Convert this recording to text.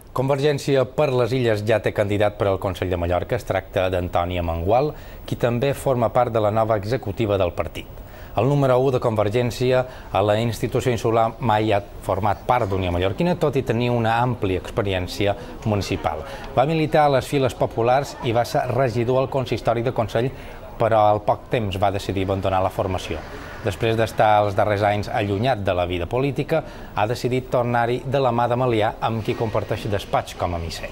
Convergència per les Illes ja té candidat per al Consell de Mallorca. Es tracta d'Antoni Amengual, qui també forma part de la nova executiva del partit. El número 1 de Convergència a la institució insular mai ha format part d'Unió Mallorquina, tot i tenir una àmplia experiència municipal. Va militar a les files populars i va ser regidor al consistori de Consell, però al poc temps va decidir abandonar la formació. Després d'estar els darrers anys allunyat de la vida política, ha decidit tornar-hi de la mà de Malià, amb qui comparteix despatx com a misser.